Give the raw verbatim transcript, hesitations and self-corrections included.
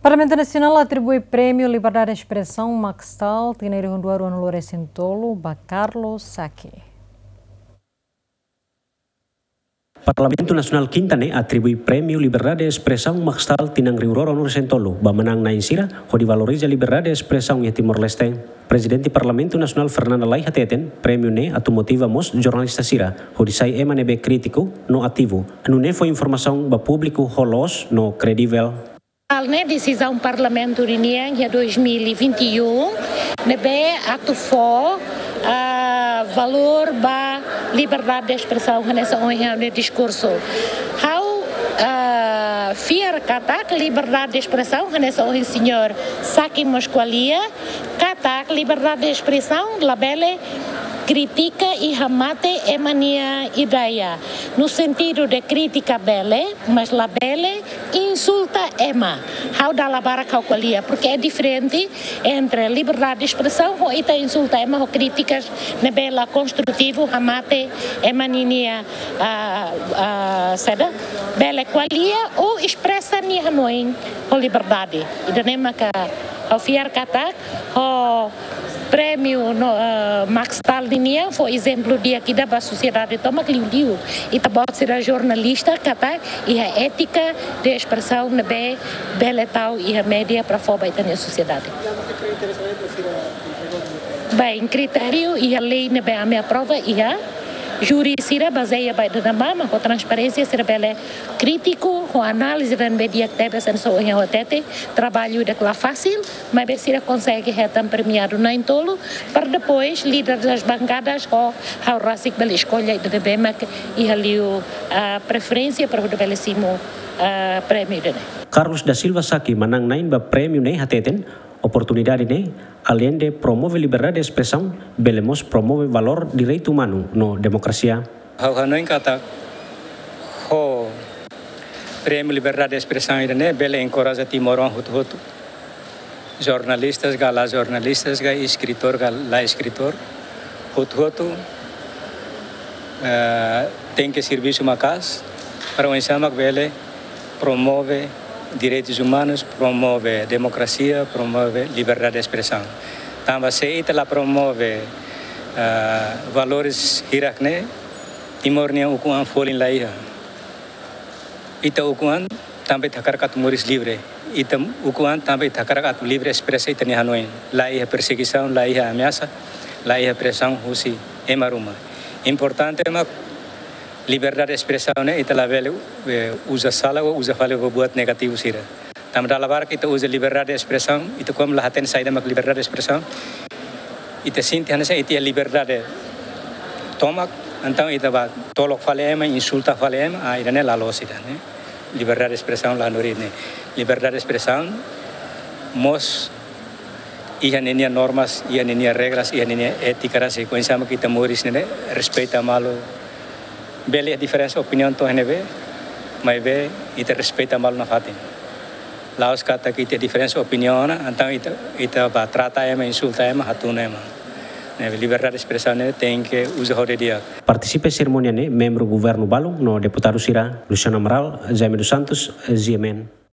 Parlamentu Nasionál atribui Prémiu Liberdade de Espresaun Maxtal tinan rihun rua ruanulu-resin-tolu ba Carlos Saki. Parlamentu Nasionál Kinta ne'e atribui Prémiu Liberdade de Espresaun Maxtal tinan rihun rua ruanulu-resin-tolu ba manán-na'in sira hodi valoriza liberdade de espresaun iha Timor-Leste. Prezidente Parlamentu Nasionál Fernanda Lay hateten, prémiu ne'e atu motiva mós jornalista sira hodi sai ema ne'ebé krítiku no ativu. Nune'e fó informasaun ba públiku ho loos no kredivel. Hal ne'e desizaun Parlamentu ninian iha dois mil e vinte e um, ne'ebé atu fó, ah, valór ba liberdade de espresaun hanesan ohin ha'u-nia diskursu. Ha'u, ah, fiar katak liberdade de espresaun hanesan ohin señór Saki mós ko'alia, katak liberdade de espresaun labele kritika i hamate ema nia ideia. No sentidu de kritika bele, mas labele insulta ema. Ha'u dala barak ha'u ko'alia, porque é diferente entre liberdade de espresaun ho ita insulta ema ho krítikas ne'ebé la konstrutivu, hamate ema ninia, ah, ah, saida, bele ko'alia ou espresa nia hanoin ho liberdade. Ida-ne'e maka ha'u fiar katak ho prémiu no, eh, Maxtal ninian fó ezemplu di'ak ida ba sosiedade tomak, liuliu ita-boot sira jornalista, katak iha étika de espresaun ne'ebé bele tau iha média para fó ba ita-nia sosiedade. Bem, kritériu iha lei ne'ebé ami aprova iha, júri sira bazeia ba ida-ne'ebá, mas ho transparénsia sira bele krítiku, ho análize ida ne'ebé di'ak tebes, hanesan ohin ha'u hatete, traballu ida la fásil, maibé sira konsege hetan premiadu na'in-tolu, para depois líder das bancadas ho ha'u rasik bele eskolla ida ne'ebé mak iha liu, ah, preferénsia para hodi bele simu, ah, prémiu ida-ne'e. Carlos da Silva Saki, manán-na'in ba prémiu ne'e hateten, oportunidade ne'e, aleinde promove liberdade de espresaun, bele mós promove valór direitu umanu no demokrasia. Ha'u hanoin katak ho prémiu liberdade de espresaun ida-ne'e bele enkoraja timoroan hotu-hotu. Jornalistas ka la jornalistas ka, eskritór ka la eskritór, hotu-hotu, eh, tenke servisu maka'as para oinsá mak bele promove direitus umanus, promove demokrasia, promove liberdade de espresaun. Tanba se ita la promove, eh, valores hirak-ne'e, Timor nia ukun-an folin la iha. Ita ukun-an tanba ita hakarak atu moris livre. Ita ukun-an tanba ita hakarak atu livre espresa ita-nia hanoin. La iha persegisaun, la iha ameasa, la iha presaun husi ema ruma. Importante mak liberdade de espresaun ne'e ita labele, eh, uza sala ou uza fali ba buat negativu sira. Tanba dala barak ita uza liberdade de espresaun, ita kuandu la hatene saida mak liberdade de espresaun, ita sente hanesan ita iha liberdade tomak, entaun ita bá tolok fali ema, insulta fali ema, ah, ida-ne'e la loos ida-ne'e. Liberdade de espresaun la hanorin ne'e. Liberdade de espresaun mós iha ninia normas, iha ninia regras, iha ninia étika rasik, oinsá mak ita moris ne'e, respeita malu. Bele diferensa opiniaun to'o iha ne'ebé, maibé ita respeita malu nafatin. La'ós katak ita diferensa opiniaun ona, entaun ita, ita bá trata ema, insulta ema, hatún ema. Ne'e, liberdade de espresaun ne'e tenke uza ho di'ak. Partisipa serimónia ne'e membru governu balun no deputadu sira, Luciano Amaral, Jaime dos Santos, G M N.